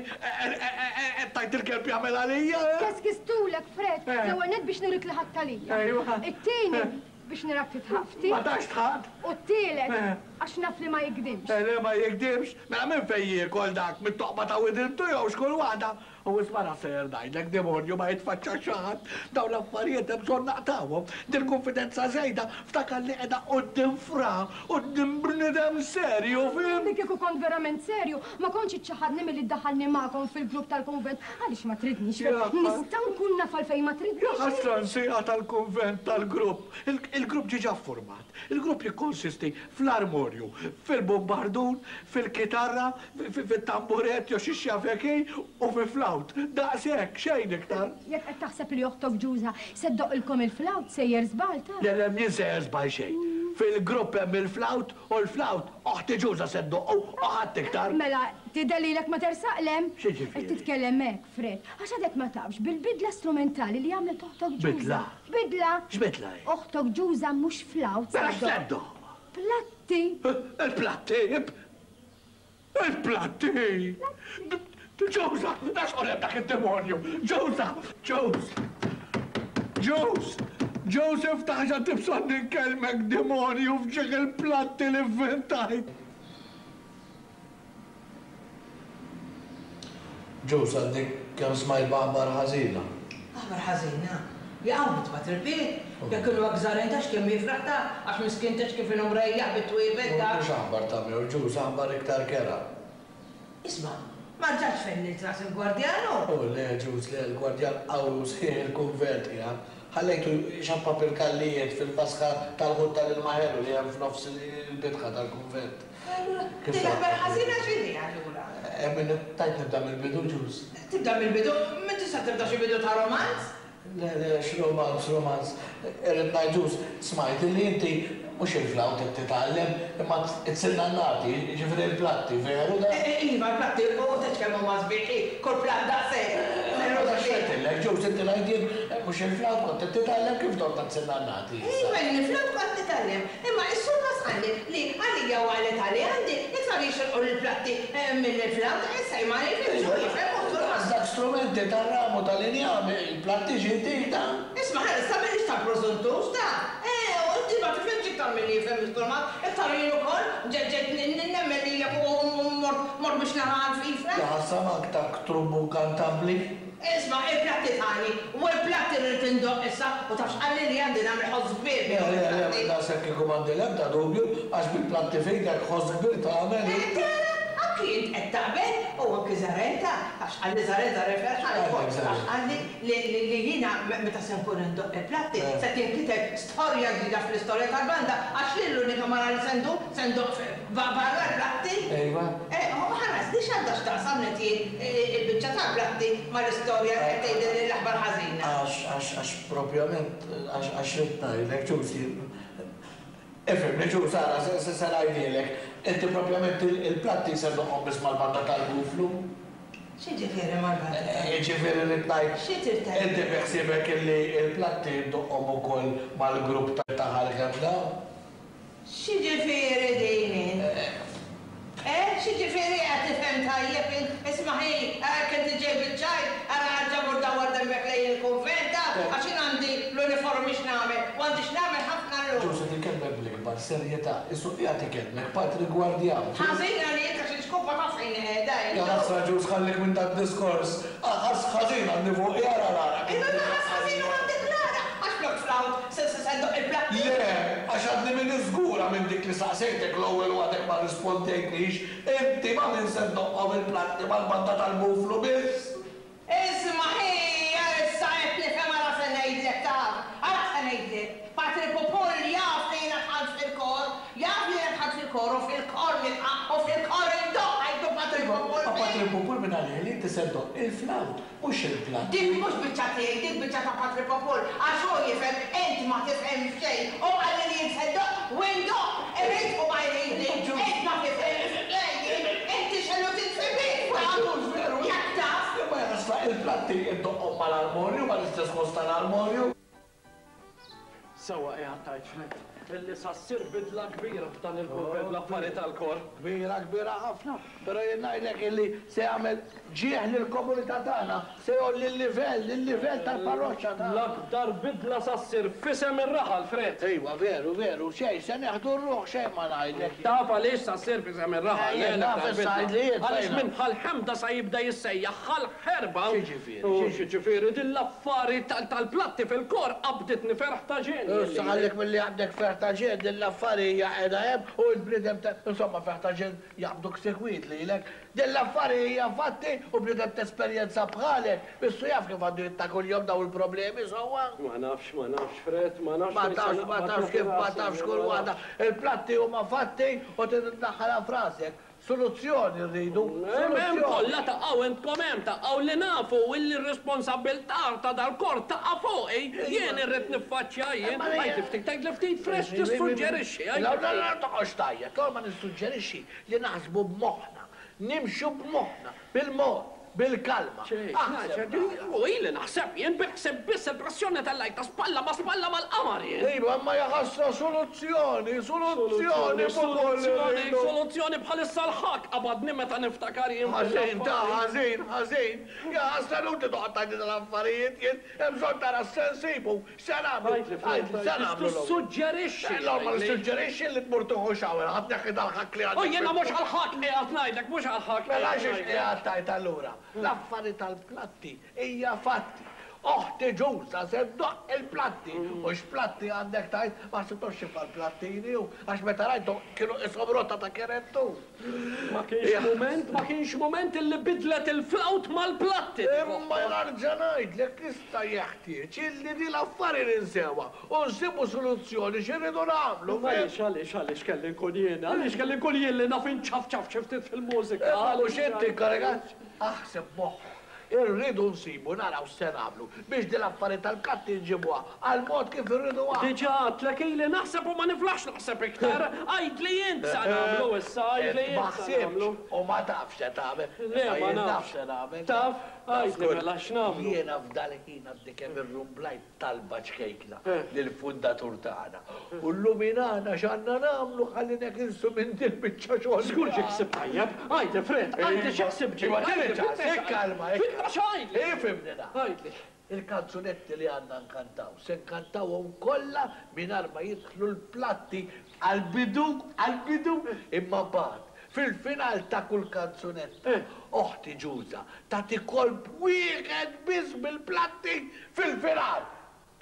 tajt il-kelb jagħmel għalija. Eh? Keskistulek, Fred, eh. l-ewwel net biex nurik li ħadd għalija. Ejwa. It-tieni biex narak titħafti. Ma tax tħadd. U t-tielet, għax naf li ma jikdimx. Le ma jikdimx, mela minn fejn jiekol dak, mit-toqba ta' widintu jew x'kull waħda. U isma' naf sejjer ngħidlek, demonju ma jitfaċċax xi ħadd, dawn l-affarijiet hemm bżonn naqtgħuhom. Dil-kunfidenza żejda ftakar li qiegħda quddiem fra, quddiem bniedem serju, fhimt? Li kieku kont verament serju, ma kontx iċċaħħadni milli ddaħħalni magħkom fil-grupp tal-kunvent. Għaliex ma tridnix? Nista' nkun naf għalfejn ma tridnix? Ja ħasra nsieqa tal-kunvent tal-grupp. Il-grupp ġiġa ffurmat. Il-grupp jikkonsisti fl-armorju, fil-bumbardun, fil-kitarra, fit-tamburet jew xi x'jaf hi u fi flawt. Daqshekk, xejn iktar. Jekk qed taħseb li oħtok Ġuża se ddoqqilkom il-flawt, sejjer żball, taf. Le, le, m'jien sejjer żball xejn. Fil-grupp hemm il-flawt u l-flawt oħti Ġuża se ddoqqu u ħadd iktar. Mela, tidher lilek ma tersaq 'l hemm? X'jiġifieri? Qed titkellem hekk, Fred, għax għadek ma tafx bil-bidla strumentali li għamlet oħtok Ġuża. Bidla? Bidla! X'bidla hi? Oħtok Ġuża mhux flawt se Mela x'se ddoqq. ddoqq? Platti! Il-platti! Il-platti! Ġuża! Da xogħol hemm dak id-demonju! Ġuża! Ġuż! Ġuż! Ġuż iftaħ għax bżonn inkellmek demonju f'ġieħ il-platti li vvintajt! Ġuż għadni kemm smajt b'aħbar ħażina. Aħbar ħażina? Jaqaw int ma tripiet? Jekk inhu hekk żgħar int għax kemm jifraħ ta' għax miskin tgħidx kif inhu mrejjaħ bit-twiebet ta'. Mhux aħbar ta' mewt Ġuż, aħbar iktar kerha. Isma', ma rġgħatx fennilt ras il-gwardjan hu? O le Ġuż, le, l-gwardjan qawwi u sħiħ il-kunvent qiegħed. Ħallejtu jxappap il-kallijiet fil-vasqa tal-ħut tal-ilma ħelu li hemm f'nofs il-bitħa tal-kunvent. Allura, din l-aħbar ħażina x'inhi allura? Min tgħid nibda mill-bidu, Ġuż? Tibda mill-bidu? M'int tista' tibda xi bidu ta' romanz? Le, le, x'romanz, romanz. Irrid ngħid, Ġuż, smajt illi inti mhux il-flawt qed titgħallem, imma t-sinnannati, jiġifieri l-platti, veru dan? Iva, l-platti, u tgħidx kemm huma sbieħ, hi, kull platt daqshekk. Veru dan x'għedtilek, Ġuż, inti ngħid jien, mhux il-flawt kont qed titgħallem kif dort għat-sinnannati issa? Iva, jien il-flawt kont nitgħallem, imma s-sur Mas qalli li għalija u għal età li għandi, iktar jixirqu l-platti mill-flawt, issa jien ma nifhimx, hu jifhem u s-sur Mas. Dak strumenti tar-ram u tal-injam, il-platti xi tita? Isma' ħa issa m'iniex ta' prużuntuż ta'. Eh, u inti ma tifhimx iktar milli jifhem is-Sur Mas, iktar jien ukoll, ġejt ġejt nemmen lilek u mort mort biex nara għall-fifra. Ja ħassa mank tak trumbu nkantabbli. Isma' il-platti tani, u l-platti rrid indoqq issa, u taf x'qalli li għandi nagħmel ħoss kbir Le, bihom le, le, il-platti. minn daqshekk kieku m'għandi l-ebda dubju, għax bil-platti f'idek ħoss kbir tagħmel. Eh, tara, anki int qed taqbel, u anki Zarenta, taf x'qalli Zaren, Zaren ferħan ukoll, taf x'qalli li li jiena meta se nkun indoqq il-platti se tinkiteb storja ġdida fl-istorja tal-banda għax lil l-unika mara li se ndur se ndoqq. Barra l-platti? Ejwa. Ħares, di x'għandha x'taqsam li tjien il-biċċa tal-platti mal-istorja li qed tgħidilli l-aħbar ħażina? Għax, għax, għax propjament, għax, għax ridt ngħidlek, Ġuż, jien. Ifhimni, Ġuż, ara, se, se, se ngħidhielek. Inti propjament il-platti se ddoqqhom biss mal-banda tal-buflu? X'jiġifieri mal-banda tal-buflu? Jiġifieri rrid ngħid. Xi trid tgħid? Inti bi ħsiebek illi l-platti ddoqqhom ukoll mal-grupp ta' Ħal Ħemda? X'jiġifieri din int? Eh, x'jiġifieri qed tifhem tajjeb int? Isma' ħi, hekk inti ġej biċ-ċajt, ara erġa' mur dawwar dembek lejn il-kunvent, taf, għax jien għandi l-uniformi x'nagħmel, u għandi x'nagħmel ħafna llum. Ġuż qed ikellmek bl-ikbar serjetà, qisu qiegħed ikellmek patri gwardjan. Ħażin għalik għax il-ġkubba taf fejn hi qiegħda int. Ja ħasra Ġuż ħallik minn dad-diskors. Ħass ħażin għandi fuqi ara l-għaraq. Imma la ħass ħażin u għandek l-għaraq għax flok flawt se se ndoqq il-platti. Le, għax għadni m'iniex żgura minn dik li saqsejtek l-ewwel u għadek ma rrispondejtnix, inti ma' min se ddoqqhom il-platti mal-banda tal-buflu biss? Isma' ħija issa qed nifhem ara se ngħidlek taf, ara se ngħidlek. Patri Pupull jaf li jiena dħalt fil-kor, jaf li jiena dħalt fil-kor u fil-kor nibqa' u fil-kor indoqq għidlu Patri Pupull Ma Patri Pupull minn għalih li inti se ddoqq il-flawt, mhux il-platti. Dik mhux biċċa tiegħi, dik biċċa ta' Patri Pupull, għax hu jifhem, int ma tifhem f'xejn. Hu qalli li jien se ndoqq u indoqq, irid u ma jridni, int ma tifhem f'xejn, inti x'inhu titfi bik taf, jekk taf. Imma jaħasra il-platti iddoqqhom mal-armorju, mal-istess ħoss tal-armorju. Sewwa qiegħed tgħid Fred, illi sa ssir bidla kbira f'dan il-kunvent bl-affari tal-kor. Kbira, kbira ħafna. Però jien ngħidlek illi se jagħmel ġieħ lill-komunità tagħna, se jgħolli l-livell, il-livell tal-parroċċa tagħna. L-akbar bidla sa ssir f'isem ir-raħal, Fred. Iva, veru, veru, xejn, se nieħdu r-ruħ xejn ma ngħidlek. Taf għaliex sa ssir f'isem ir-raħal, le Jien naf l-aktar issa bidla. għidli int Għaliex fejn. minn Ħal Ħemda sa jibda jissejjaħ Ħal Ħerba. X'jiġifieri? U x'jiġifieri din l-affari tal-platti fil-kor qabditni ferħ ta' ġenn. Issa ħallik milli jaqbdek ferħ ta' ġenn, din l-affari hija qiegħda hemm u int bniedem ta', insomma ferħ ta' ġenn jaqbduk sikwit lilek. Din l-affari hija fatti u bniedem t'esperjenza bħalek missu jaf kif għandu jitta' kuljum dawn il-problemi sewwa. Ma nafx, ma nafx Fred, ma nafx Ma fejn se tafx, ma naqbad tafx kif, ma rasi, tafx kull ma waħda. nafx. Il-platti huma fatti u trid iddaħħalha f'rasek. Soluzzjoni rridu, Hemm hemm soluzzjoni. kollha taqgħu intkom hemm taqgħu li nafu illi r-responsabbiltà ta' dal-kor taqa' fuqi. Jien irrid niffaċċja jien. Għidli ftit, għidli ftit fresh tissuġġerixxi, għidli La, la, ftit. la, toqgħodx tgħajjat, l-ewwel ma nissuġġerixxi li naħsbu b'moħħna, nimxu b'moħħna, bil-mod. Bil-kalma. Aħseb naqra. U ili naħseb jien bil-ħsieb biss il-pressjoni tellajtha spalla ma' spalla mal-qamar jien. Iva, imma jaħasra soluzzjoni, soluzzjoni fuq Soluzzjoni, soluzzjoni bħalissa l-ħakk qabadni meta niftakar jien Ħażin ta' ħażin, ħażin. Jaħasra inutli toqgħod tgħidli tal-affarijiet jien, hemm bżonn tara x'se nsibu, x'se nagħmlu. Għidli, x'se nagħmlu l-ewwel? Tissuġġerixxi. Le, ma nissuġġerixxi li tmur tieħu shower, ħa tneħħi dal-ħakk li għandek. U jiena mhux għall-ħakk qiegħed ngħidlek, mhux għall-ħakk. Mela xiex qiegħed tgħid allura? L-affari tal-platti hija fatti. Oħti Ġuża se ddoqq il-platti. U x'platti għandek tgħid? Ma ħsibthomx xi bħall-plattini hu, għax meta rajthom kienu qishom rota ta' kerettur. Ma kienx mument, ma kienx mument illi bidlet il-flawt mal-platti. Imma nerġa' ngħidlek issa jeħtieġ illi din l-affari ninsewha u nsibu soluzzjoni x'irridu nagħmlu. Għaliex, għaliex, għaliex kelli nkun jiena? Għaliex kelli nkun jien li naf inċafċaf xi ftit fil-mużika? Imma mhux inti inkarigat? Aħseb b'moħħok. Irridu nsibu, naraw x'se nagħmlu biex din l-affari tal-katti nġibuha għall-mod kif irridu aħna. Diġà għadtlek ili naħseb u ma niflaħx naħseb iktar. Għidli int x'sa nagħmlu issa, għidli int x'sa nagħmlu. Ma ħsibtx u ma tafx x'se tagħmel. Le, ma Imma jien naf nafx. x'se nagħmel. Taf? Għidli mela x'nagħmlu. Jiena f'dal-ħin għadni kemm irrumblajt talba ċkejkna lill-fundatur tagħna u lluminana x'għandna nagħmlu ħalli neħilsu minn dil-biċċa xogħol. Żgur ġie ħsieb tajjeb. Għidli Fred, għidli xi ħsieb ġie. Iva, tirġa', ikkalma, Fitna x'għidli. Ifhimni naqra. Għidli. Il-kanzunetti li għandna nkantaw, se nkantawhom kollha mingħajr ma jidħlu l-platti għall-bidu, għall-bidu, imma mbagħad fil-final ta' kull kanzunetta, oħti Ġuża tagħti kolp wieħed biss bil-platti fil-final.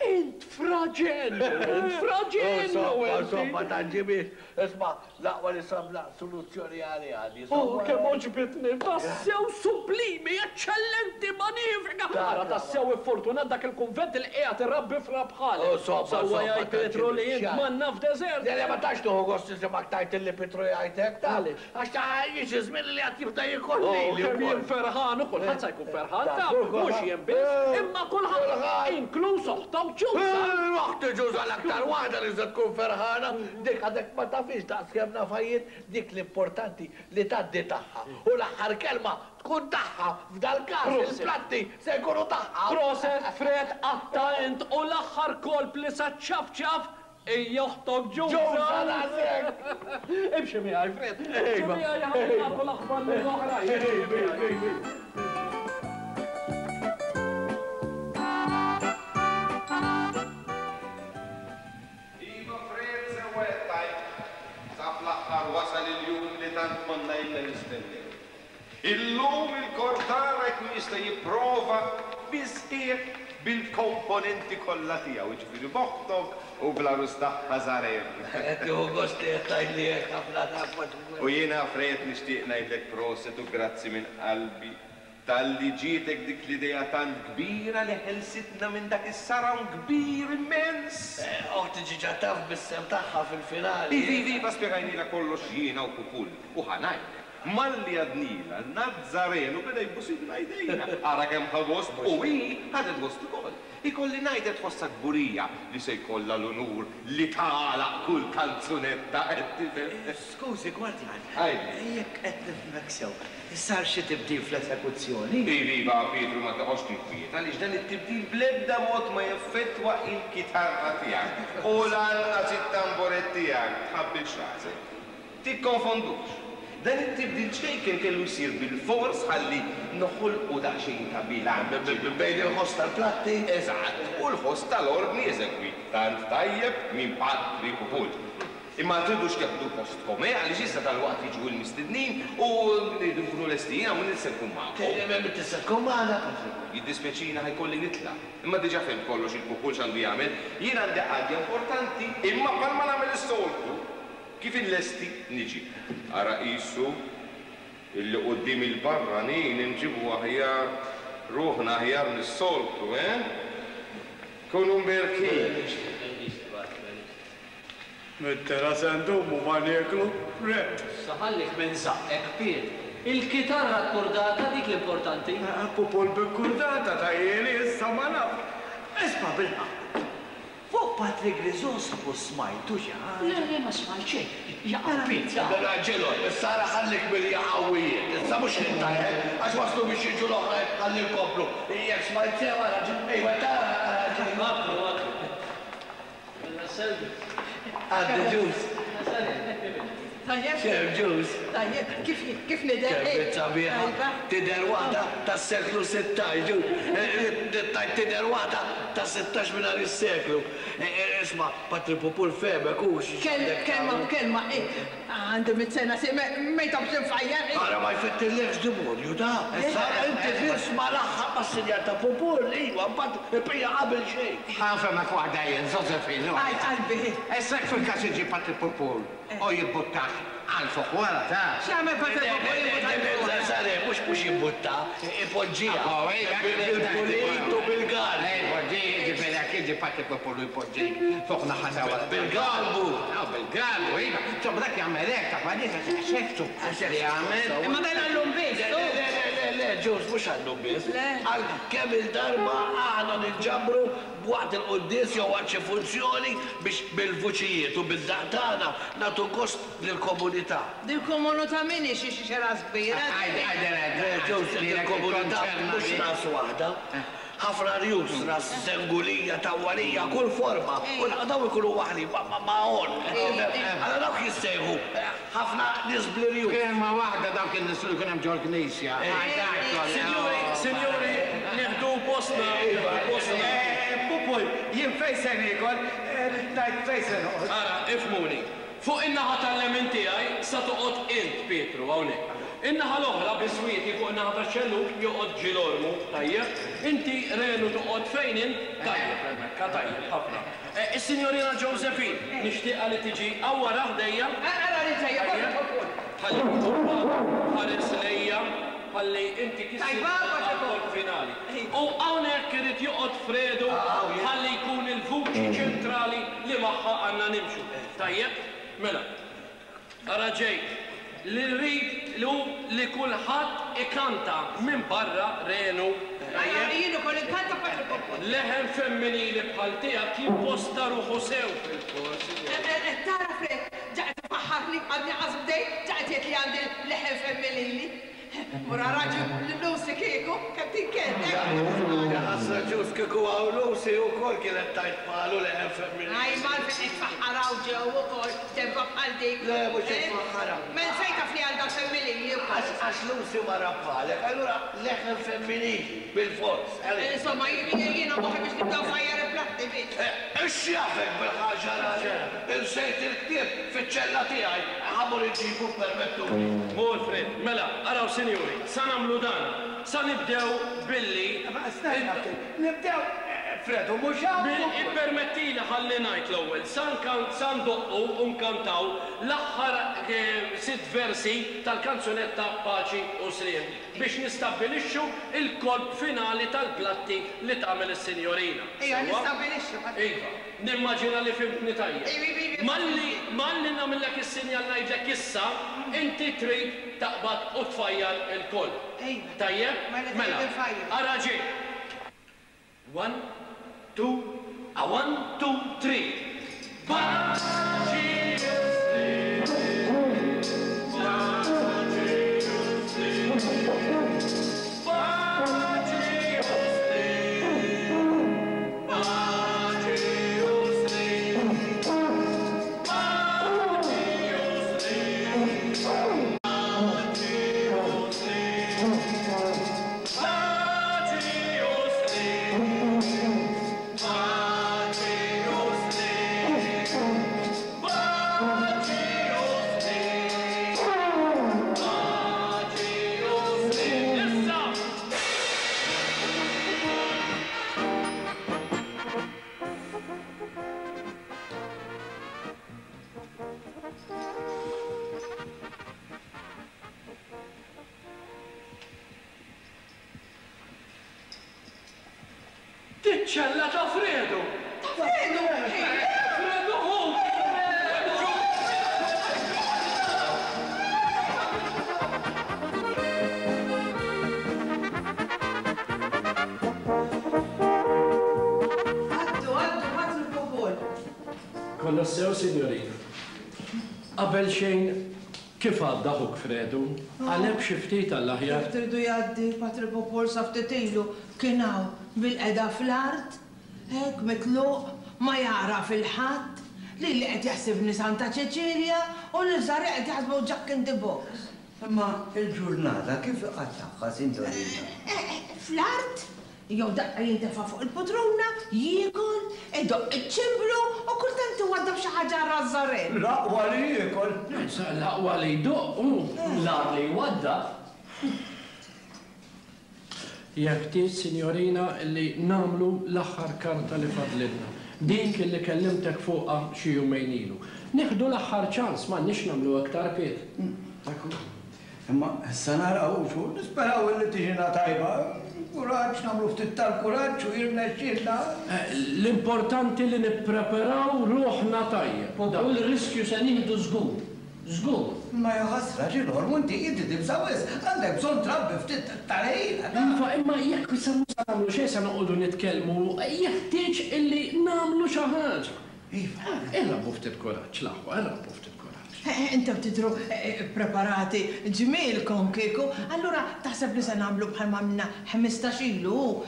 Int fra! Fra ġenju, int, fra ġenju Insomma, inti. insomma, tgħaġġibix. Isma', l-aqwa li sabna soluzzjoni għaliha di. Oh, kemm għoġbitni! Tassew sublimi, eċċellenti, manifika! Ara tassew iffortunat dak il-kunvent li qiegħed irabbi fra bħalek. Oh, somma, Sewwa somma, jgħid Pietru li int tgħaġġibix. manna f'deżert. Le, le, ma tantx tieħu gost nisimgħek tgħid illi Pietru jgħid hekk, taf. Għaliex? Għax ta' jiġi żmien li għad jibda jiekol Oh, lili kemm jien wkoll. ferħan u kulħadd se jkun ferħan, Ta' taf, kulħadd. mhux jien biss, imma kulħadd, Kulħadd. inkluż oħtok Ġuża. Oħti Ġuża l-aktar waħda li se tkun ferħana, dik għadek ma tafhiex daqs kemm nafha jien, dik l-importanti li tgħaddi tagħha u l-aħħar kelma tkun tagħha, f'dal-każ il-platti se jkunu tagħha. Proset Fred qatta' int u l-aħħar kolp li sa ċċafċaf hija oħtok Ġuża. Ġuża daqshekk! Imxi miegħi Fred, imxi miegħi ħalli nagħtu l-aħbar lill-oħrajn. Iva Fred sewwa qed tgħid. Sa fl-aħħar wasal il-jum li tant konna ilna nistennew. Illum il-kor tagħna jkun jista' jipprova bis-sħiħ bil-komponenti kollha tiegħu, jiġifieri b'oħtok u bl-għarus tagħha Zarem. Qed tieħu gost li qed tgħidli hekk ħafna taf ma U jiena Fred nixtieq ngħidlek proset u grazzi minn qalbi talli ġietek dik l-idea tant kbira li ħelsitna minn dak is-saram kbir immens! Oħti ġiġa taf bis-sehem tagħha fil-finali. Iva, iva, iva, spjegajnielha kollox jiena u Pupul. U ħa ngħidlek, malli għadnielha, Nazzarenu beda jbusilna jdejna. Ara kemm ħa gost u hi ħadet gost ukoll. Ikolli ngħid qed tħossha kburija li se jkollha l-unur li tagħlaq kull kanzunetta qed tifhem. Skużi, Gwardjan. Għidli. Jekk qed nifhmek sew, sar xi tibdil fl-esekuzzjoni? Iva, iva, Pietru, ma toqgħodx tinkwieta għaliex dan it-tibdil bl-ebda mod ma jeffettwa il-kitarra tiegħek u lanqas it-tamburett tiegħek. Tħabbilx rasek. Tikkonfondux. Dan it-tibdil ċkejken kellu jsir bilfors ħalli noħolqu daqsxejn ta' bilanċ. Bejn il-ħoss tal-platti? Eżatt, u l-ħoss tal-ordni eżegwit tant tajjeb minn Patri Pupul. Imma tridux teħdu postkom, eh, għaliex issa dalwaqt jiġu l-mistednin u rridu nkunu lesti. Jiena m'iniex se nkun magħkom. M'intix se tkun magħna? Jiddispjaċini ħa jkolli nitlaq. Imma diġà fhimt kollox il-Pupul x'għandu jagħmel. Jien għandi qadja importanti, imma bħalma nagħmel is-soltu, Kif inlesti, niġi. Ara qisu illi quddiem il-barranin inġibu aħjar ruħna aħjar mis-soltu, eh? Kunu mberkin. Mit-tela se ndumu ma nieklu, Fred. Issa ħallik minn żaqqek, Piet. Il-kitarra kkurdata dik l-importanti. Pupul bi kkurdata ta' jieli issa ma naf. Isma' bil-ħaqq. Fuq Patri Griżospu smajtu xi ħaġa? Le, le, ma smajt xejn. Jaqa' Piet, jaqa'. Mela Ġilon, issa ara ħallik mill-jaqawijiet. Issa mhux int hekk, għax waslu biex jiġu l-oħrajn ħalli nkomplu. Jekk smajt sew ara ġi, ejwa tara ara ġi. Għaddu, għaddu. Mela selvi. Għaddi ġus. Tajjeb. Xemm ġus. Tajjeb, kif kif nidher? Kemm int sabiħa. Tidher waħda tas-seklu 16, ġus. Tgħid tidher waħda ta' 16 minn nhar is-seklu. Isma' Patri Pupul fehmek hu x'għandek tagħmel. Kelma b'kelma, għandi mitt sena si ma jtobx infajjar. Ara ma jfettillekx dimonju da. Issa inti biss ma laħħaq mas-sinjal ta' Pupul, iva, mbagħad ipija qabel xejn. Ħa nfehmek waħda jien, Żożefin. Għaj qalbi. Issa jekk fil-każ iġi Patri Pupul u jibbuttak għal fuq wara ta'. X'jagħmel Patri Pupul jibbutta għal fuq wara? Sare, mhux mhux jibbutta, ipoġġiha. Bil-pulit u bil-galbu. Ipoġġi, jiġifieri jekk jiġi Patri Pupul u jpoġġik fuq naħa ta' wara. Bil-galbu. Bil-galbu, iva. Insomma dak jagħmel hekk, taf għaliex għax hekk suppost li jagħmel. Imma dan għallum biss. Le, le, le, le, le, Ġus, mhux għallum biss. Għal kemm il-darba aħna ninġabru Waqt il-quddies jew waqt xi funzjoni biex bil-vuċijiet u bid-daqq tagħna nagħtu gost lill-komunità. Dil-komunità min hi xi xi ras kbira? Ġewż il-komunità mhux ras waħda. Ħafna rjus, ras żengulija, tawwalija, kull forma. U dawn ikunu waħlin ma' għonq. Allura dawk jissejħu ħafna nies bl-irjus. Kelma waħda dawk in-nies li jkun hemm ġol-knisja. Sinjuri, sinjuri, Nieħdu postna, nieħdu postna. Pupul, jien fejn se niekol, rrid ngħid fejn se noqgħod. Ara, ifhmuni. Fuq in-naħa tal-lemin tiegħi sa toqgħod int, Pietru, hawnhekk. In-naħa l-oħra, biswieti fuq in-naħa tax-xellug, joqgħod Ġilormu, tajjeb? Inti, Renu, toqgħod fejn int? Tajjeb, Rebecca, tajjeb ħafna. Is-Sinjorina Josephine, nixtieqha li tiġi hawn wara ħdejja. Ara li ġejja, Tajjeb? Ħalli huwa ħares lejja ħalli inti kissi għall-kolp finali. U hawnhekk irid joqgħod Fredu ħalli jkun il-vuċi ċentrali li magħha għandna nimxu. Tajjeb? Mela. Ara ġej. Li rrid hu li kulħadd ikanta minbarra Renu. Tajjeb? Jien ukoll inkanta Patri Popol. Leħen femminili bħal tiegħek jimposta ruħu sew fil-kor, sinjorina. Qed tara Fred, ġa qed ifaħħarni għadni qas bdejt, ġa qed jgħid li għandi leħen femminili. Mur ara lil Lucy kieku, kemm tinkedd, hekk? Ja ħasra Ġust kieku hawn Lucy wkoll kienet tgħid bħalu leħen femminili. Ajma għalfejn qed tfaħħar hawn ġew ukoll f'debba bħal dik? Le mhux qed tfaħħarha. Mela fejn taf li għandha l-femminili wkoll? Għax Lucy mara bħalek, allura leħen femminili bilfors. Insomma jiena moħħi biex nibda nfajjar il-platti biss. X'jafek bil-ħaġa raġel? Insejt il-ktieb fiċ-ċella tiegħi. Ħa mmur inġibu ppermettuli. Mur Fred. Mela, araw sinjuri, sa nagħmlu dan. Sa nibdew billi. Ma stenna ftit. Nibdew, Fred u mhux hawn. Ippermettili ħalli ngħid l-ewwel. Sa sa ndoqqu u nkantaw l-aħħar sitt versi tal-kanzunetta Paċi u Sliem biex nistabbilixxu l-kolp finali tal-platti li tagħmel is-sinjorina. Ejja, Sewwa? nistabbilixxu, Patri. Iva. Nimmaġina li fhimtni tajjeb. Iva, iva, iva. Malli, malli nagħmillek is-sinjal ngħidlek issa, inti trid taqbad u tfajjar il-kolp. Iva. Tajjeb? Mela trid Mela, infajjar. ara ġej. One, two, a one, two, three. Paċi u sliem, paċi u sliem, paċi u sliem, paċi u sliem, paċi u sliem, paċi u sliem, paċi u sliem, paċi u sliem, paċi u sliem, paċi u sliem. Issa! Tiċ-ċella ta' Fredu! Ta' Fredu! Fredu hu! Għaddu, għaddu, Patri Popol. Kollox sew, sinjorina. Qabel xejn, kif għadda ħuk Fredu? Qaleb xi ftit għall-aħjar? Kif tridu jgħaddi, Patri Popol sa ftit ilu kien hawn bilqiegħda fl-art, hekk mitluq, ma jagħraf 'il ħadd, lili qed jaħsibni Santa Ċeċilja u lil Żarre qed jaħsbu Jack in the Box. Imma l-ġurnata kif iqattagħha, sinjorina? Fl-art, jew daqqa jintefa' fuq il-putruna, jiekol, idoqq iċ-ċimblu u kultant iwaddab xi ħaġa għal ras Żarre. L-aqwa li jiekol. L-aqwa li jdoqq hu. L-agħar li jwaddab. Jeħtieġ, sinjorina, illi nagħmlu l-aħħar karta li fadlilna. Dik illi kellimtek fuqha xi jumejn ilu. Nieħdu l-aħħar ċans, m'għandniex nagħmlu aktar piet. Ekku. Imma issa naraw xu, nisperaw illi tiġina tajba. Kuraġġ, nagħmlu ftit tal-kuraġġ u jirnexxielna. L-importanti li nippreparaw ruħna tajjeb. U l-riskju se nieħdu żgur. Żgur. Imma ja ħasra, Ġilormu, inti inti tibża' wisq. Għandek bżonn trabbi ftit tal-ħila. Iva, imma jekk issa mhux se nagħmlu xejn se noqogħdu nitkellmu, jeħtieġ illi nagħmlu xi ħaġa. Iva. Irrabbu ftit kuraġġ, l-aħwa, irrabbu ftit kuraġġ. Intom tidhru ppreparati ġmielkom kieku, allura taħseb li se nagħmlu bħalma għamilna 15 ilu,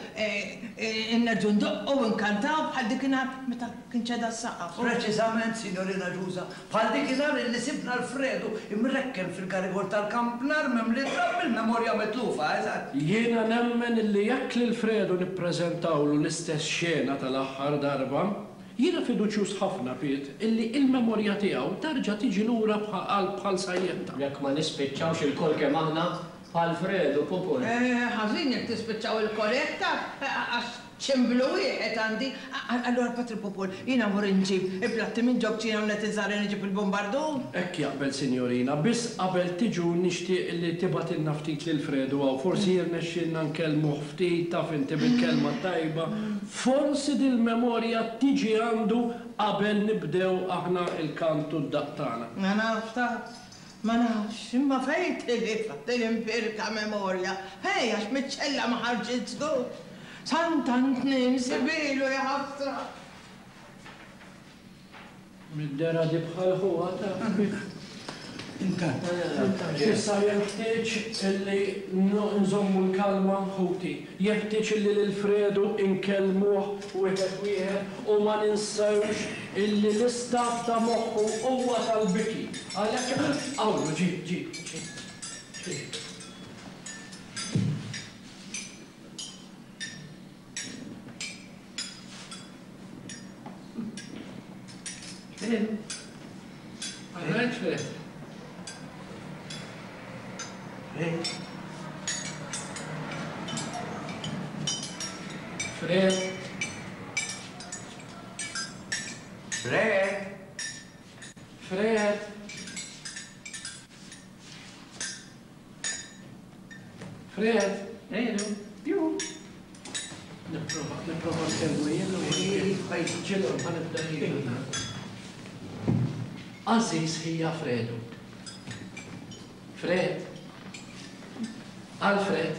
nerġgħu ndoqqu u nkantaw bħal dikinhar meta kien ċeda s-saqaf? Preċiżament, Signorina Ġuża, bħal dikinhar illi sibna l-Fredu imrekken fil-karigor tal-kampnar mimli trab bil-memorja mitlufa, eżatt. Jiena nemmen illi jekk lil Fredu nippreżentawlu l-istess xena tal-aħħar darba, Jiena fiduċjuż ħafna, Piet, illi il-memorja tiegħu tarġa' tiġi lura bħal bħal sajjetta. Jekk ma nispiċċawx ilkoll kemm aħna bħal Fredu Pupul. Ħażin jekk tispiċċaw ilkoll hekk taf, għax Ċimblu wieħed għandi. Allura Patri Pupul, jiena mmur inġib il-platti minn ġo kċina u ngħid iż-żgħarin iġib il-bumbardun? Hekk jaqbel sinjorina, biss qabel tiġu nixtieq li tibgħatilna ftit lil Fredu hawn, forsi jirnexxielna nkellmuh ftit, taf inti bil-kelma t-tajba, forsi dil-memorja tiġi għandu qabel nibdew aħna l-kant u d-daqq tagħna. Ma nafx taf, ma nafx, imma fejn tilifha din imbierka memorja? Fejn għax miċ-ċella ma ħarġitx żgur. Sant'Antnin sibilu ja ħasra! Mid-dehra di bħal ħuha taf. Intant. Issa jenħtieġ illi nżommu l-kalma ħuti. Jeħtieġ illi lil Fredu nkellmuh wieħed wieħed u ma ninsewx illi l-istat ta' moħħu huwa tal-biki. Għalhekk, hawnhu ġie, ġie, ġie, ġie. Alright, Fred. Fred. Fred. Fred. Fred. Fred. Ejlu. Ju. Nipprova, nipprova nkellmu jien u Ġillu, ħa nibda jien. Għażiż ħija Fredu. Fred. Alfred.